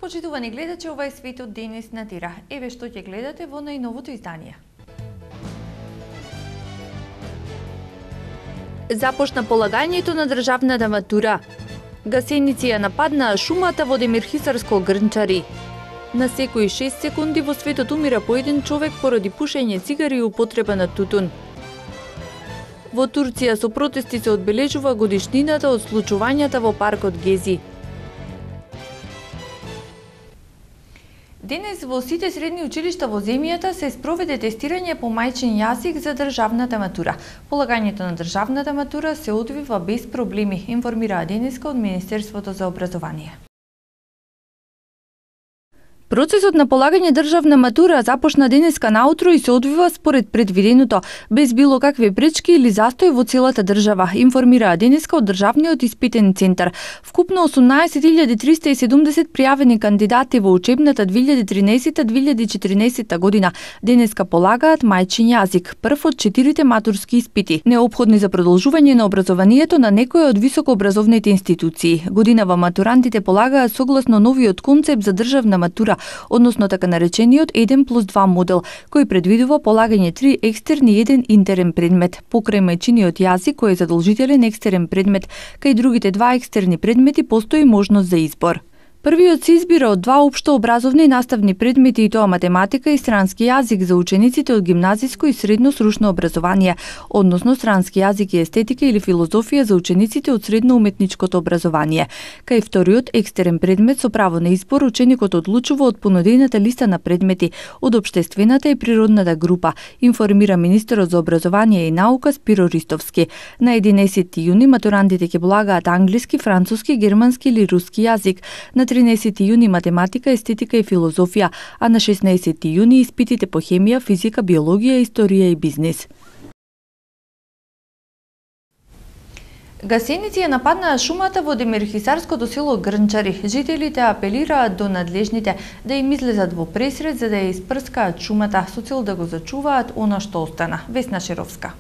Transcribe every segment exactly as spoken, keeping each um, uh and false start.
Почитувани гледачи, ова е Светот денес на Тира. Еве што ќе гледате во најновото издание. Започна полагањето на државната матура. Гасеници ја нападнаа шумата во Демирхисарско Грнчари. На секои шест секунди во светот умира по еден човек поради пушење цигари и употреба на тутун. Во Турција со протести се одбележува годишнината од случувањата во паркот Гези. Денес во сите средни училишта во земјата се спроведе тестирање по мајчин јазик за државната матура. Полагањето на државната матура се одвива без проблеми, информираа денеска од Министерството за образование. Процесот на полагање државна матура започна денеска наутро и се одвива според предвиденото, без било какви пречки или застој во целата држава, информираа денеска од Државниот испитен центар. Вкупно осумнаесет илјади триста и седумдесет пријавени кандидати во учебната две илјади тринесета две илјади четиринесета година денеска полагаат мајчин јазик, прв од четирите матурски испити, неопходни за продолжување на образованието на некоја од високообразовните институции. Годинава матурантите полагаат согласно новиот концепт за државна матура, односно така наречениот еден плюс два модел, кој предвидува полагање три екстерни и еден интерен предмет. Покрај мајчиниот јазик, кој е задолжителен екстерен предмет, кај другите два екстерни предмети постои можност за избор. Првиот се избира од два општо образовни наставни предмети, и тоа математика и странски јазик за учениците од гимназиско и средно сручно образование, односно странски јазик и естетика или филозофија за учениците од средно уметничкото образование. Кај вториот екстерен предмет со право на избор, ученикот одлучува од понудената листа на предмети од општествената и природната група, информира министерот за образование и наука Спиро Ристовски. На единаесети јуни матурантите ќе полагаат англиски, француски, германски или руски јазик. На тринесети јуни математика, естетика и филозофија, а на шеснаесети јуни испитите по хемија, физика, биологија, историја и бизнис. Гасеници ја нападнаа шумата во Демирхисарското село Грнчари. Жителите апелираат до надлежните да им излезат во пресред за да ја испрскаат шумата со цел да го зачуваат она што остана. Весна Шеровска.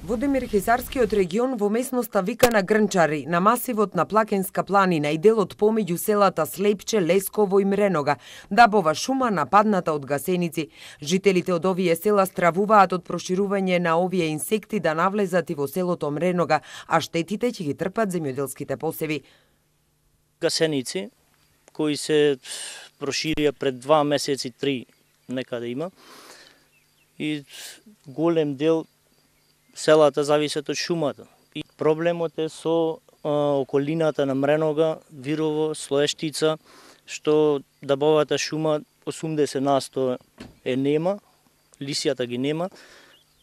Во Демирхисарскиот регион, во местноста викана Грнчари, на масивот на Плакенска планина и делот помеѓу селата Слепче, Лесково и Мреновга, дабова шума нападната од гасеници. Жителите од овие села стравуваат од проширување на овие инсекти да навлезат и во селото Мреновга, а штетите ќе ги трпат земјоделските посеви. Гасеници кои се проширија пред два месеци, три некаде има, и голем дел селата зависат од шумата. И проблемот е со а, околината на Мреновга, Вирово, Слоештица, што дабовата шума осумдесет на сто е нема, лисијата ги нема,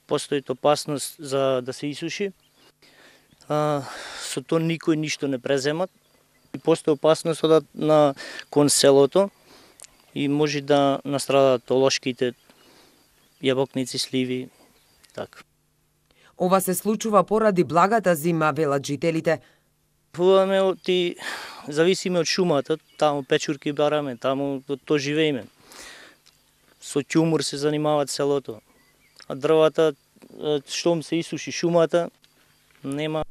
постои опасност за да се исуши. А, со тоа никој ништо не преземат. И постои опасност од на кон селото и може да настрадат олошките, јабокници, сливи, така. Ова се случува поради благата зима, велат жителите. Пуваме оти, зависиме од шумата, таму печурки бараме, таму то живееме. Со ќумур се занимават селото. А дрвата, штом се исуши шумата, нема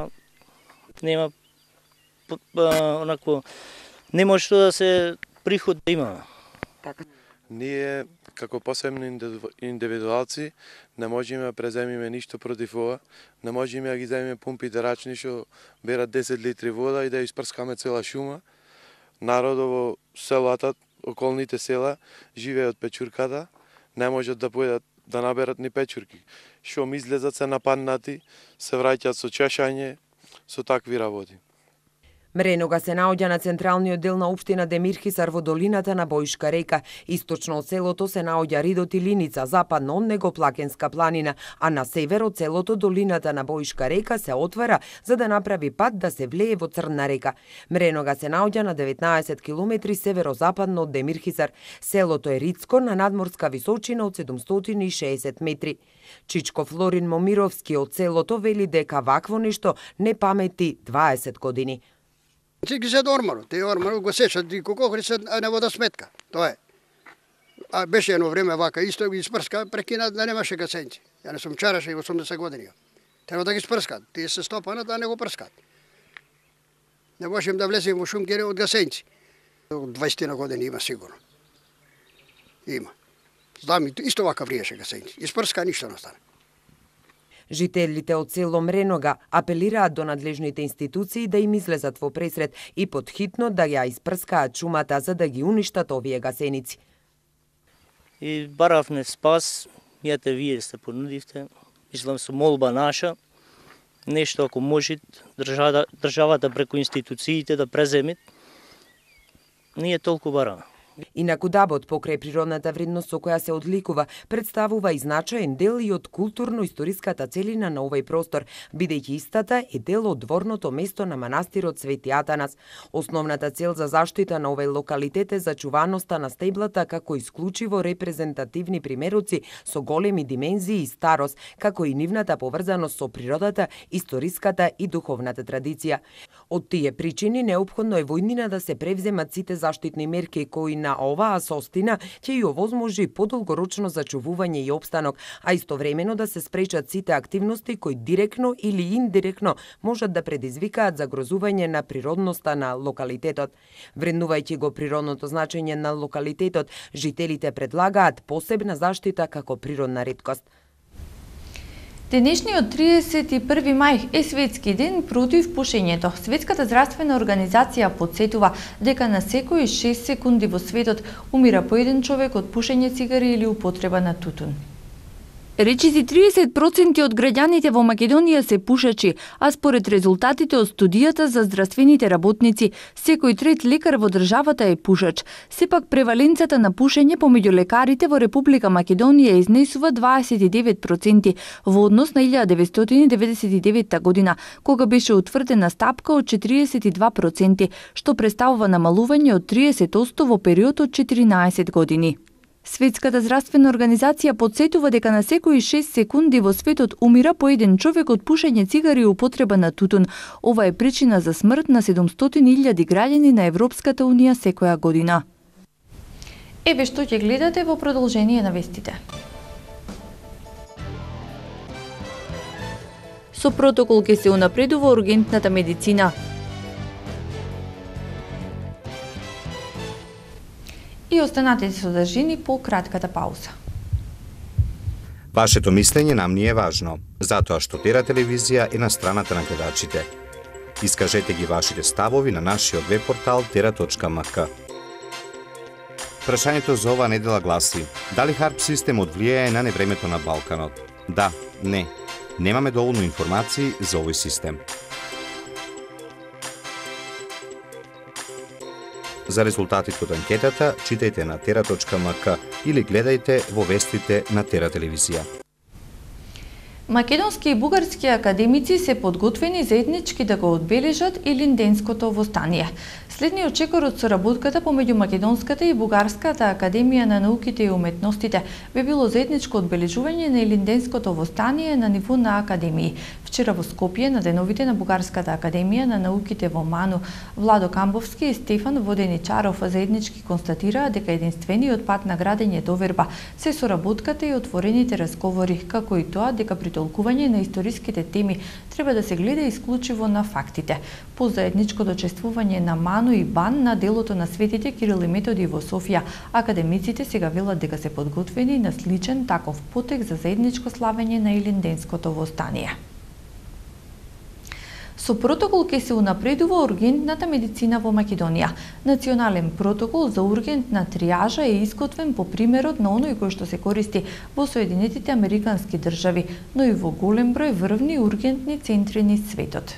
нема онако нема што да се приход да има. Така. Ние како посебни индивидуалци не можеме да преземиме ништо против ова, не можеме да ги земиме пумпите рачни што берат десет литри вода и да испрскаме цела шума. Народот во селата, околните села, живее од печурката, не можат да поедат да наберат ни печурки. Шум излезат се нападнати, се враќаат со чешање, со такви работи. Мреновга се наоѓа на централниот дел на општина Демирхисар во долината на Бојшка река. Источно од селото се наоѓа Ридот и Линица, западно од него Плакенска планина, а на север од селото долината на Бојшка река се отвара за да направи пат да се влее во Црна река. Мреновга се наоѓа на деветнаесет километри северозападно од Демирхисар. Селото е ридско на надморска височина од седумстотини и шеесет метри. Чичко Флорин Момировски од селото вели дека вакво нешто не памети дваесет години. Си ги се до ормарот, те ормарот го сечат и кокохри се на водосметка, тоа е. А беше едно време вака, исто ги спрска, прекина да немаше гасенци. Ја не сум чараше и осумдесет години. Треба да ги спрскат, тие се стопанат, а не го прскат. Не можем да влезем во шумкери од гасенци. дваесет години има сигурно. Има. Знам, исто вака вриеше гасеници. Испрска ништо не стане. Жителите од село Мренога апелираат до надлежните институции да им излезат во пресред и подхитно да ја испрскаат шумата за да ги уништат овие гасеници. И баравме спас, јате вие се понудивте, мислам со молба наша, нешто ако може државата, државата преку институциите да преземет, ние толку бараме. Инаку дабот покрај природната вредност со која се одликува, представува и значаен дел и од културно-историската целина на овој простор, бидејќи истата е дел од дворното место на манастирот Свети Атанас. Основната цел за заштита на овој локалитет е зачуваноста на стеблата како исклучиво репрезентативни примероци со големи димензии и старост, како и нивната поврзаност со природата, историската и духовната традиција. Од тие причини неопходно е во иднина да се превземат сите заштитни мерки кои на оваа состина ќе ја овозможи подолгорочно зачувување и опстанок, а истовремено да се спречат сите активности кои директно или индиректно можат да предизвикаат загрозување на природноста на локалитетот. Вреднувајќи го природното значење на локалитетот, жителите предлагаат посебна заштита како природна реткост. Денешниот триесет и први мај е светски ден против пушењето. Светската здравствена организација потсетува дека на секои шест секунди во светот умира по еден човек од пушење цигари или употреба на тутун. Речиси триесет проценти од граѓаните во Македонија се пушачи, а според резултатите од студијата за здравствените работници, секој трет лекар во државата е пушач. Сепак преваленцата на пушење помеѓу лекарите во Република Македонија изнесува дваесет и девет проценти во однос на илјада деветстотини деветдесет и девета година, кога беше утврдена стапка од четириесет и два проценти, што представува намалување од триесет одсто во период од четиринаесет години. Светската здравствена организација потсетува дека на секои шест секунди во светот умира по еден човек од пушење цигари и употреба на тутун. Ова е причина за смрт на седумстотини илјади граѓани на Европската унија секоја година. Еве што ќе гледате во продолжение на вестите. Со протокол ќе се унапредува ургентната медицина. И останатите содржини по кратката пауза. Вашето мислење нам ни е важно, затоа што Тера телевизија е на страната на гледачите. Искажете ги вашите ставови на нашиот веб портал тера точка ем ка. Прашањето за оваа недела гласи: дали харп системот влијае на невремето на Балканот? Да, не. Немаме доволно информации за овој систем. За резултатите од анкетата читајте на тера точка ем ка или гледајте во вестите на Тера телевизија. Македонски и бугарски академици се подготвени заеднички да го одбележат Илинденското востание. Следниот чекор од соработката помеѓу Македонската и Бугарската академија на науките и уметностите би било заедничко одбележување на Илинденското востание на ниво на академии. Вчера во Скопје на деновите на Бугарската академија на науките во Ману, Владо Камбовски и Стефан Воденичаров заеднички констатираа дека единствениот пат на градење доверба се соработката и отворените разговори, како и тоа дека при толкување на историските теми треба да се гледа исклучиво на фактите. По заедничкото чествување на Ману и Бан на делото на светите Кирил и Методи во Софија, академиците сега велат дека се подготвени на сличен таков потек за заедничко славење на Илинденското востание. Со протокол ќе се унапредува ургентната медицина во Македонија. Национален протокол за ургентна триажа е изготвен по примерот на оној кој што се користи во Соединетите Американски држави, но и во голем број врвни ургентни центри низ светот.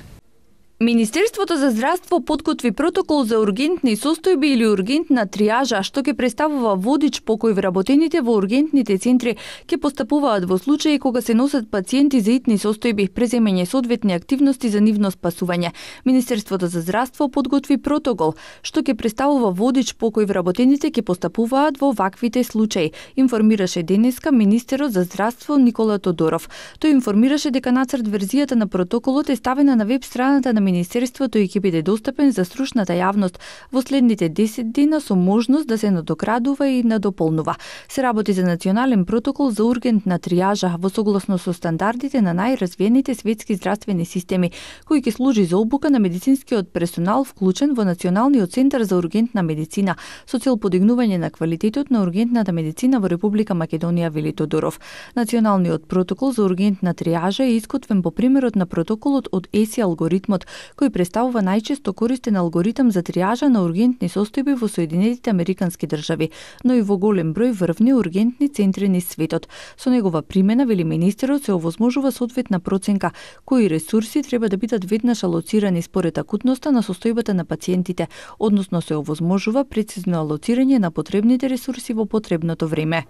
Министерството за здравство подготви протокол за ургентни состојби или ургентна триажа, што ќе представува водич по кој вработените во ургентните центри ќе постапуваат во случаи кога се носат пациенти за итни состојби, преземање соодветни активности за нивно спасување. Министерството за здравство подготви протокол, што ќе представува водич по кој вработените ќе постапуваат во ваквите случаи, информираше денеска министерот за здравство Никола Тодоров. Тој информираше дека нацрт верзијата на протоколот е ставена на веб страната на Министерството и ќе биде достапен за стручната јавност во следните десет дена со можност да се надоградува и надополнува. Се работи за национален протокол за ургентна тријажа во согласно со стандардите на најразвиените светски здравствени системи, кој ќе служи за обука на медицинскиот персонал вклучен во Националниот центар за ургентна медицина со цел подигнување на квалитетот на ургентната медицина во Република Македонија, вели Тодоров. Националниот протокол за ургентна тријажа е изготвен по примерот на протоколот од ЕСИ алгоритмот, кој представува најчесто користен алгоритам за тријажа на ургентни состојби во Соединетите Американски држави, но и во голем број врвни ургентни центри низ светот. Со негова примена, вели министерот, се овозможува соодветна проценка кои ресурси треба да бидат веднаш алоцирани според акутноста на состојбата на пациентите, односно се овозможува прецизно алоцирање на потребните ресурси во потребното време.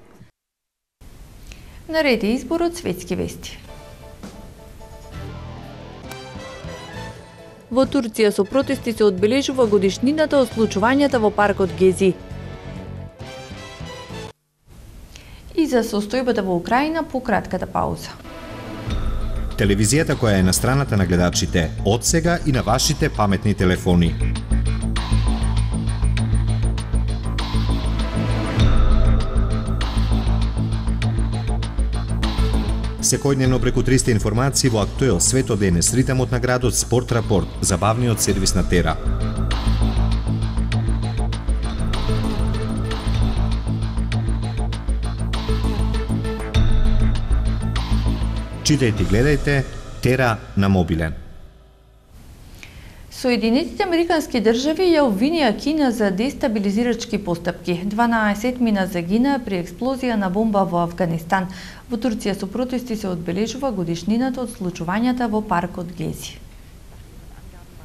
Наред е изборот светски вести. Во Турција со протести се одбележува годишнината од случувањата во паркот Гези. И за состојбата во Украина по кратката пауза. Телевизијата која е на страната на гледачите, од сега и на вашите паметни телефони. Секојдневно преку триста информации во Актуел, Свето денес, ритамот на градот, Спорт рапорт, забавниот сервис на Тера. Читајте и гледајте Тера на мобилен. Соединетите Американски држави ја обвинија Кина за дестабилизирачки постапки. дванаесет мина загинаа при експлозија на бомба во Авганистан. Во Турција со протести се одбележува годишнината од случувањата во паркот Гези.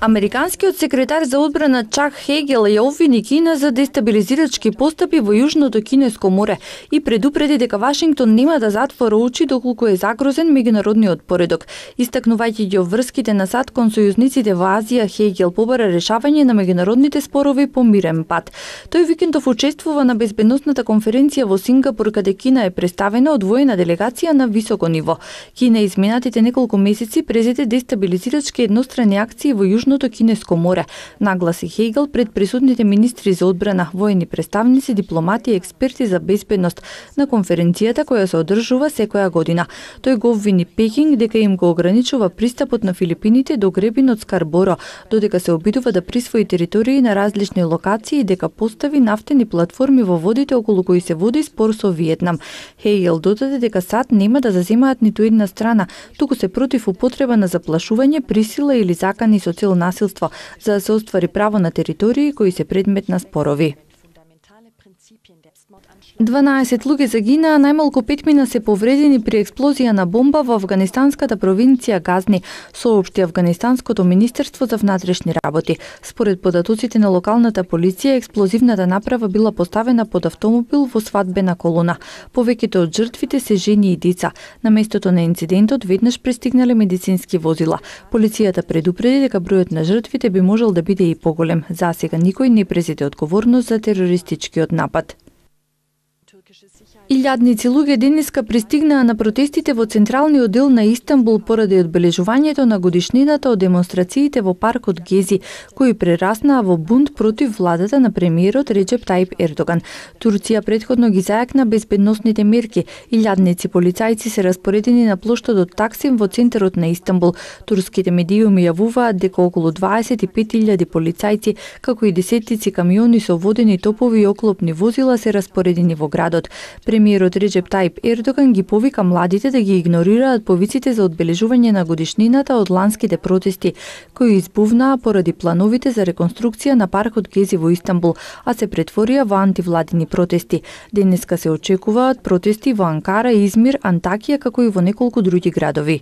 Американскиот секретар за одбрана Чак Хегел ја обвини Кина за дестабилизирачки постапи во Јужното Кинеско море и предупреди дека Вашингтон нема да затвора очи доколку е загрозен меѓународниот поредок. Истакнувајќи ги врските на САД кон сојузниците во Азија, Хегел побара решавање на меѓународните спорови по мирен пат. Тој викендов учествува на безбедносната конференција во Сингапур, каде Кина е представена од воена делегација на високо ниво. Кина изминатите неколку месеци презеде дестабилизирачки еднострани акции во Јужното Кинеско море, нагласи Хегел пред присутните министри за одбрана, воени представници, дипломати и експерти за безбедност на конференцијата која се одржува секоја година. Тој го обвини Пекинг дека им го ограничува пристапот на Филипините до гребинот Скарборо, додека се обидува да присвои територии на различни локации и дека постави нафтени платформи во водите околу кои се води спор со Виетнам. Хегел додаде дека САД нема да заземаат ниту една страна, туку се против употреба на заплашување, присила или закани со цел насилство, за да се оствари право на територии кои се предмет на спорови. дванаесет луѓе загинаа, најмалку пет мина се повредени при експлозија на бомба во афганистанската провинција Газни, соопшти Афганистанското министерство за внатрешни работи. Според податоците на локалната полиција, експлозивната направа била поставена под автомобил во свадбена колона. Повеќето од жртвите се жени и деца. На местото на инцидентот веднаш пристигнале медицински возила. Полицијата предупреди дека бројот на жртвите би можел да биде и поголем. За сега никој не презеде одговорност за терористичкиот напад. Илјадници луѓе денеска пристигнаа на протестите во централниот дел на Истанбул поради одбележувањето на годишнината од демонстрациите во паркот Гези, кои прераснаа во бунт против владата на премиерот Реджеп Тајип Ердоган. Турција претходно ги зајакна безбедносните мерки. Илјадници полицајци се распоредени на плоштадот Таксим во центарот на Истанбул. Турските медиуми јавуваат дека околу дваесет и пет илјади полицајци, како и десеттици камиони со водени топови и оклопни возила се распоредени во градот. Премиерот Реджеп Тајип Ердоган ги повика младите да ги игнорираат повиците за одбележување на годишнината од ланските протести, кои избувнаа поради плановите за реконструкција на паркот Гези во Истанбул, а се претворија во антивладини протести. Денеска се очекуваат протести во Анкара, Измир, Антакија, како и во неколку други градови.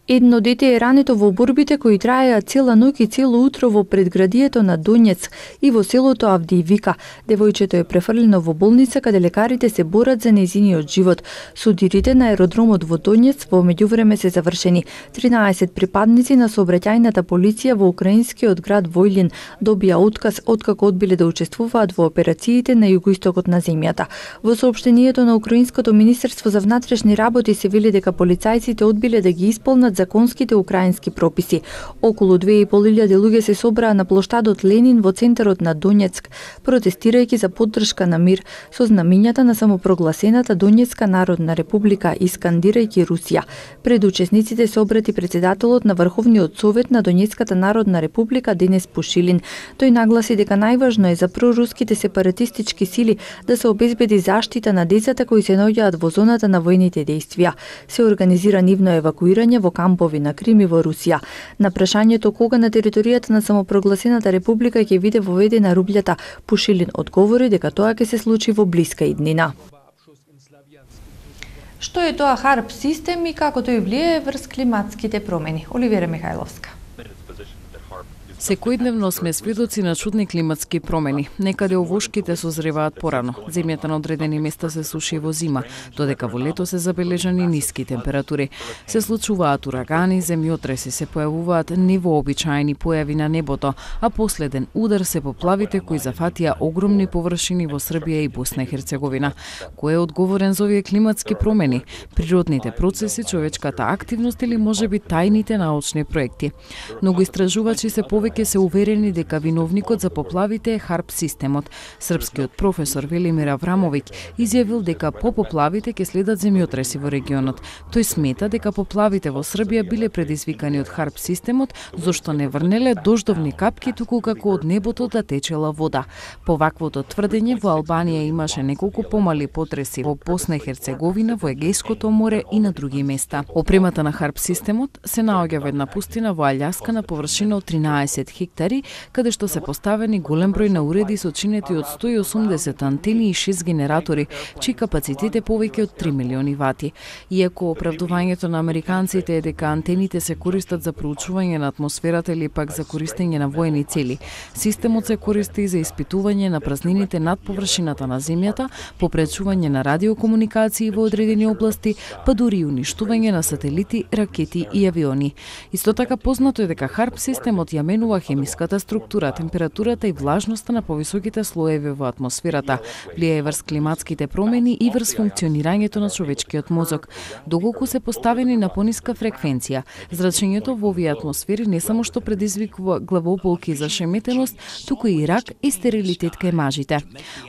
Едно дете е рането во борбите кои траеа цела ноќ и цело утро во предградието на Донецк и во селото Авдиивика. Девојчето е префрлено во болница каде лекарите се борат за нејзиниот живот. Судирите на аеродромот во Донецк во меѓувреме се завршени. тринаесет припадници на сообраќајната полиција во украинскиот град Војлин добија отказ откако одбиле да учествуваат во операциите на југоистокот на земјата. Во соопштението на Украинското министерство за внатрешни работи се вели дека полицајците одбиле да ги исполнат спроведуваат законските украински прописи. Околу две и пол илјади луѓе се собраа на плоштадот Ленин во центарот на Донецк, протестирајќи за поддршка на мир со знамињата на самопрогласената Донецка народна република и скандирајќи Русија. Пред учесниците се обрати председателот на Врховниот совет на Донецката народна република Денис Пушилин. Тој нагласи дека најважно е за проруските сепаратистички сили да се обезбеди заштита на децата кои се наоѓаат во зоната на војните действија. Се организира нивно евакуирање во кампови на Крим и во Русија. На прашањето кога на територијата на самопрогласената република ќе биде воведена рублјата, Пушилин одговори дека тоа ќе се случи во блиска иднина. Што е тоа харп систем и како тој влијае врз климатските промени? Оливера Михајловска. Секојдневно сме сведоци на чудни климатски промени. Некаде овошките созреваат порано. Земјата на одредени места се суши во зима, додека во лето се забележани ниски температури. Се случуваат урагани, земјотреси, се појавуваат невообичаени појави на небото, а последен удар се поплавите кои зафатија огромни површини во Србија и Босна и Херцеговина. Кој е одговорен за овие климатски промени? Природните процеси, човечката активност или можеби тајните научни проекти? Многу истражувачи се повеќе ке се уверени дека виновникот за поплавите е харп системот. Српскиот професор Велимир Аврамовиќ изјавил дека по поплавите ќе следат земјотреси во регионот. Тој смета дека поплавите во Србија биле предизвикани од харп системот, зашто не врнеле дождовни капки, туку како од небото да течела вода. По ваквото тврдење во Албанија имаше неколку помали потреси во Босна и Херцеговина, во Егејското море и на други места. Опремата на харп системот се наоѓа во една пустина во Алјаска на површина од тринаесет хектари, каде што се поставени голем број на уреди сочинети од сто и осумдесет антени и шест генератори, чиј капацитет е повеќе од три милиони вати. Иако оправдувањето на американците е дека антените се користат за проучување на атмосферата или пак за користење на воени цели, системот се користи и за испитување на празнините над површината на земјата, попречување на радиокомуникации во одредени области, па дури и уништување на сателити, ракети и авиони. Исто така познато е дека харп системот ја менува хемиската структура, температурата и влажноста на повисоките слоеви во атмосферата, влијае врз климатските промени и врз функционирањето на човечкиот мозок. Доколку се поставени на пониска фреквенција, зрачењето во овие атмосфери не само што предизвикува главополки за шеметеност, туку и рак и стерилитет кај мажите.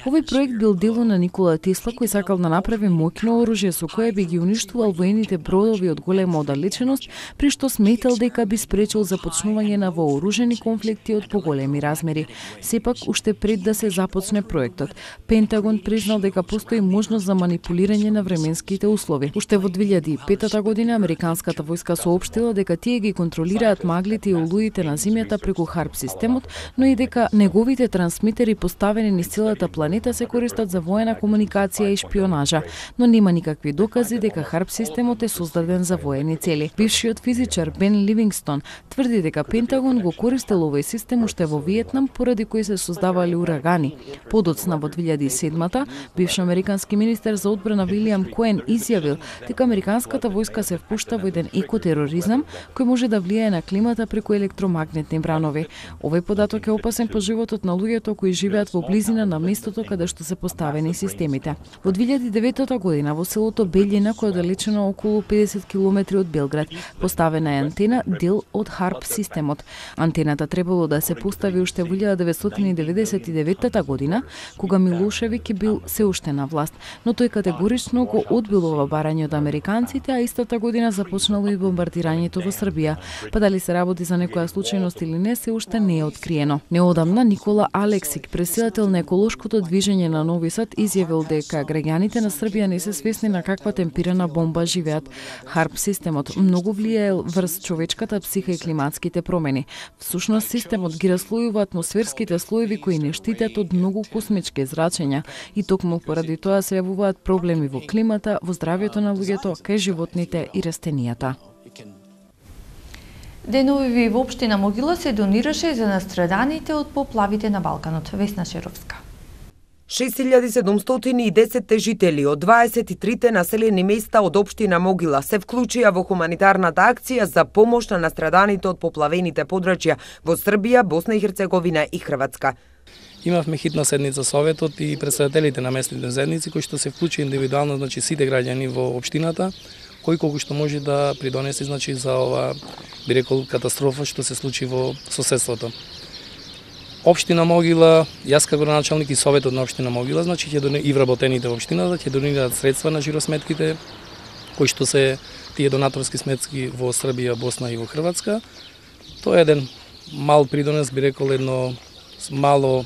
Овој проект бил дело на Никола Тесла, кој сакал да направи моќно оружје со кое би ги уништувал воените бродови од голема оддалеченост, при што сметал дека би спречил започнување на вооружени конфликти од поголеми размери. Сепак, уште пред да се започне проектот, Пентагон признал дека постои можност за манипулирање на временските услови. Уште во две илјади и пета година американската војска соопштила дека тие ги контролираат маглите и олуите на земјата преку харп системот, но и дека неговите трансмитери поставени низ целата планета се користат за воена комуникација и шпионажа, но нема никакви докази дека харп системот е создаден за воени цели. Бившиот физичар Бен Ливингстон тврди дека Пентагон го користел овој систем уште во Виетнам, поради кој се создавале урагани. Подоцна во две илјади и седма бивш американски министер за одбрана Вилијам Коен изјавил дека американската војска се впушта во еден екотероризам кој може да влијае на климата преку електромагнетни бранови. Овој податок е опасен по животот на луѓето кои живеат во близина на местото каде што се поставени системите. Во две илјади и девета година во селото Белјина, кој е оддалечено околу педесет километри од Белград, поставена е антена дел од харп системот. Антената требало да се постави уште во илјада деветстотини деветдесет и девета година, кога Милошевиќ бил се уште на власт, но тој категорично го одбил ова барање од американците, а истата година започнало и бомбардирањето во Србија. Па дали се работи за некоја случајност или не, се уште не е откриено. Неодамна Никола Алексик, претседател на еколошкото движење на Нови Сад, изјавил дека граѓаните на Србија не се свесни на каква темпирана бомба живеат. Харп системот многу влијае врз човечката психа и климатските промени. Всушност системот ги раслојува атмосферските слоеви кои не штитат од многу космички зрачења и токму поради тоа се јавуваат проблеми во климата, во здравјето на луѓето, кај животните и растенијата. Денови во општина Могила се донираше за настраданите од поплавите на Балканот. Весна Шеровска. шест илјади седумстотини и десет жители од дваесет и трите населени места од општина Могила се вклучија во хуманитарната акција за помош на настраданите од поплавените подрачја во Србија, Босна и Херцеговина и Хрватска. Имавме хитна седница советот и представителите на местните заедници кои што се вклучи индивидуално, значи сите граѓани во општината, кој колку што може да придонесе значи за ова, би рекол, катастрофа што се случи во соседството. Општина Могила, јас како градоначалник и советот на општина Могила, значи ќе донесат и вработените во општината, ќе донираат средства на жиросметките кои што се тие донаторски сметки во Србија, Босна и во Хрватска. Тоа е еден мал придонес, би рекол, едно мало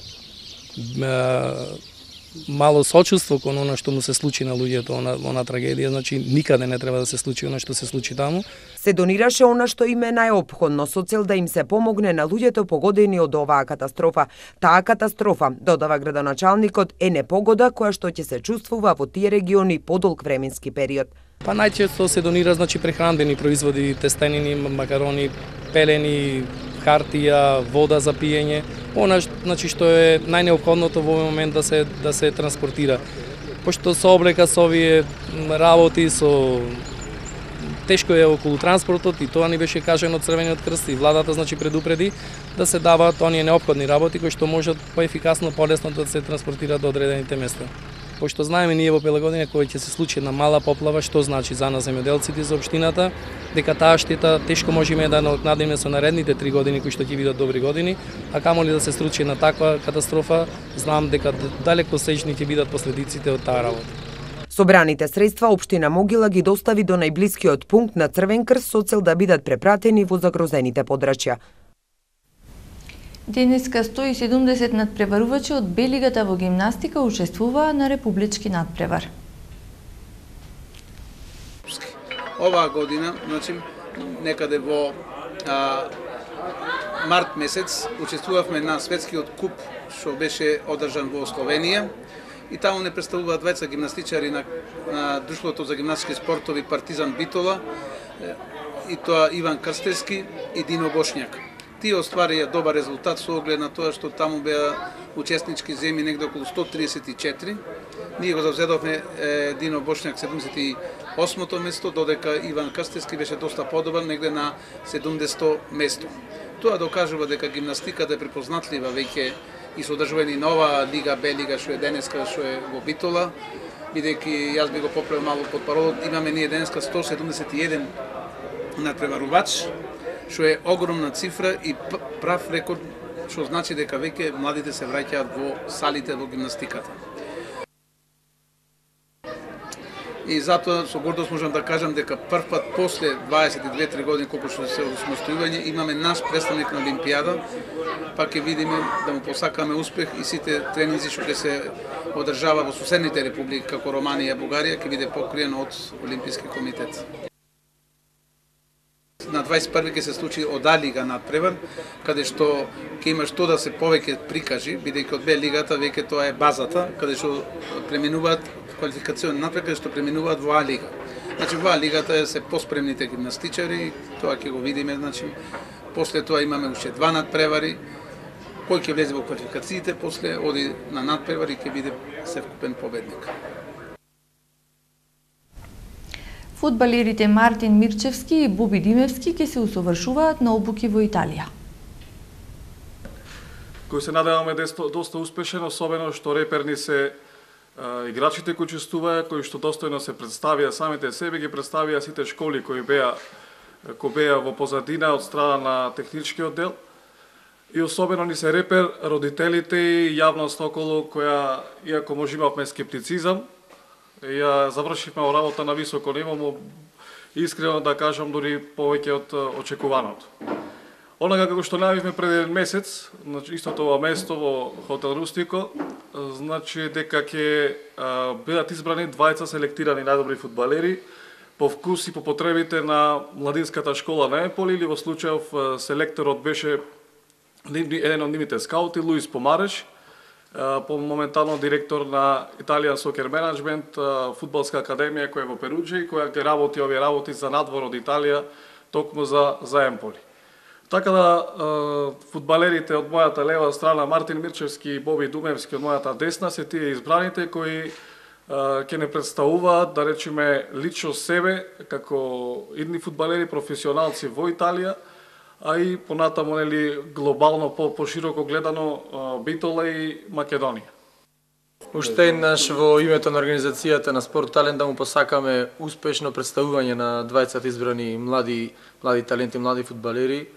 мало сочувство кон она што му се случи на луѓето, она, она трагедија, значи никаде не треба да се случи она што се случи таму. Се донираше она што им е најопходно со цел да им се помогне на луѓето погодени од оваа катастрофа. Таа катастрофа, додава градоначалникот, е непогода која што ќе се чувствува во тие региони подолг временски период. Па најчесто се донира значи прехранбени производи, тестенини, макарони, пелени, хартија, вода за пиење, она значи што е најнеопходното во овој момент да се да се транспортира. Пошто со облека со овие работи со тешко е околу транспортот и тоа ни беше кажано од Црвениот крст и владата значи предупреди да се даваат оние неопходни работи кои што можат поефикасно, полесно да се транспортираат до одредените места. Пошто знаеме ние во Пелагодина кој ќе се случи една мала поплава, што значи за нас земјоделците за општината, дека таа штета тешко можеме да надокнадиме со наредните три години кои што ќе бидат добри години, а камоли да се случи на таква катастрофа, знам дека далеко сеќни ќе бидат последиците од таа работа. Собраните средства општина Могила ги достави до најблискиот пункт на Црвен крст со цел да бидат препратени во загрозените подрачја. Денеска сто и седумдесет надпреварувачи од Б лигата во гимнастика учествуваа на републички надпревар. Оваа година, значи, некаде во а, март месец учествувавме на светскиот куп што беше одржан во Словенија и таму не представуваа двајца гимнастичари на, на Друштвото за гимнастички спортови Партизан Битола и тоа Иван Крстевски и Дино Бошњак. Тие остварија добар резултат со оглед на тоа што таму беа учеснички земји негде околу сто триесет и четири. Ние го завзедовме е, Дино Бошњак седумдесет и осмо место, додека Иван Крстевски беше доста подобар негде на седумдесето место. Тоа докажува дека гимнастиката е препознатлива веќе и со одржување на оваа лига Б лига што е денеска што е во Битола, бидејќи јас би го поправил малку под паролот, имаме ние денеска сто седумдесет и еден надпреварувач, што е огромна цифра и прав рекорд, што значи дека веќе младите се враќаат во салите во гимнастиката. И затоа со гордост можам да кажам дека прв пат после дваесет и две три години колку што се осмостојување имаме наш представник на Олимпијада, па ќе видиме да му посакаме успех и сите тренинзи што ќе се одржава во соседните републики како Романија и Бугарија ќе биде покриено од Олимписки комитет. На дваесет и први ќе се случи од А лига надпревар, каде што ќе има што да се повеќе прикажи, бидејќи од Б лигата веќе тоа е базата, каде што преминуваат квалификацион напред, каде што преминуваат во А лига. Значи во А лигата се поспремните гимнастичари, тоа ќе го видиме, значи после тоа имаме уште два надпревари, кој ќе влезе во квалификациите, после оди на надпревари ќе биде севкупен победник. Фудбалерите Мартин Мирчевски и Боби Димевски ќе се усовршуваат на обуки во Италија. Кој се надеваме доста успешен, особено што реперни се а, играчите кои учествуваа, кои што достојно се представија самите себе, ги представија сите школи кои беа кои беа во позадина од страна на техничкиот дел. И особено ни се репер родителите и јавност околу која, иако може имавме скептицизам, ја завршивме работа на високо ниво, му искрено да кажам дури повеќе од очекуваното. Онага како што најавивме пред еден месец, значи истото ова место во хотел Рустико, значи дека ќе бидат избрани двајца селектирани најдобри фудбалери по вкус и по потребите на младинската школа на Емполи, или во случајов селекторот беше еден од нивните скаути, Луис Помареш, по моментално директор на Italian Soccer Management, фудбалска академија која е во Перуџа и која ќе работи овие работи за надвор од Италија, токму за, за Емполи. Така да, фудбалерите од мојата лева страна, Мартин Мирчевски и Боби Думевски од мојата десна, се тие избраните кои ќе не представуваат, да речеме, лично себе, како идни фудбалери, професионалци во Италија, а и понатаму нели глобално по пошироко гледано Битола и Македонија. Уште еднаш во името на организацијата на Спорт Талент да му посакаме успешно представување на дваесет избрани млади млади таленти, млади фудбалери,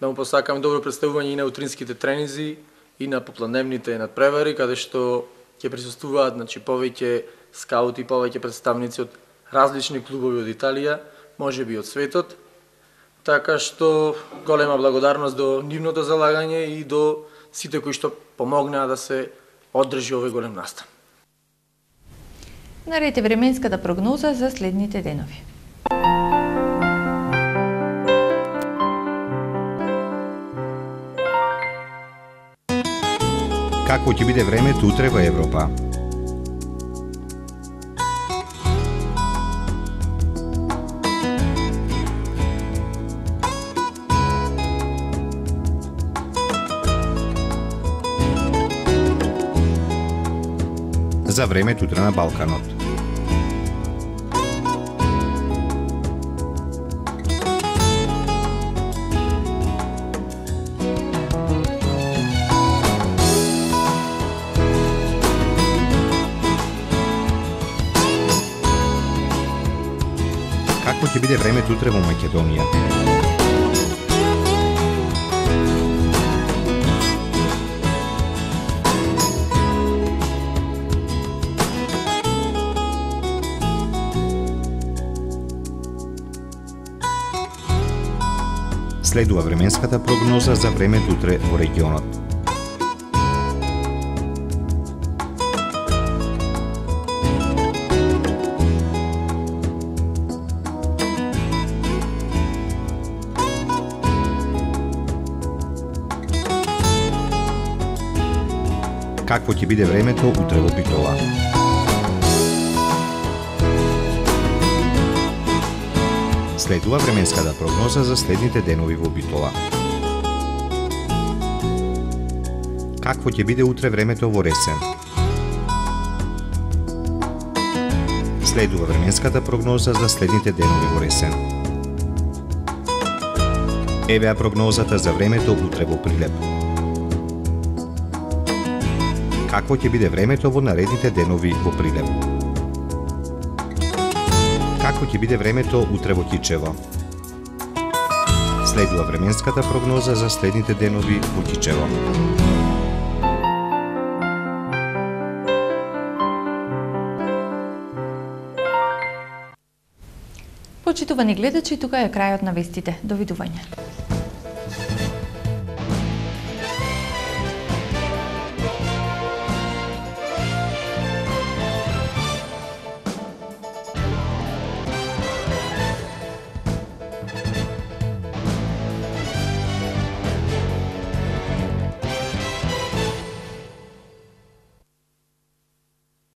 да му посакаме добро представување и на утринските тренинзи и на попланевните надпревари, каде што ќе присуствуваат, значи, повеќе скаути, повеќе представници од различни клубови од Италија, можеби од светот. Така што голема благодарност до нивното залагање и до сите кои што помогнаа да се одржи овој голем настан. Наред е временската прогноза за следните денови. Какво ќе биде времето утре во Европа? За времето утре на Балканот. Какво ќе биде времето утре во Македонија? Следува временската прогноза за времето утре во регионот. Какво ќе биде времето утре во Битола? Следува временската прогноза за следните денови во Битола. Какво ќе биде утре времето во Ресен? Следува временската прогноза за следните денови во Ресен. Евеа прогнозата за времето утре во Прилеп. Какво ќе биде времето во наредните денови во Прилеп? Какво ќе биде времето утре во Кичево? Следува временската прогноза за следните денови во Кичево. Почитувани гледачи, тука е крајот на вестите. Довидување.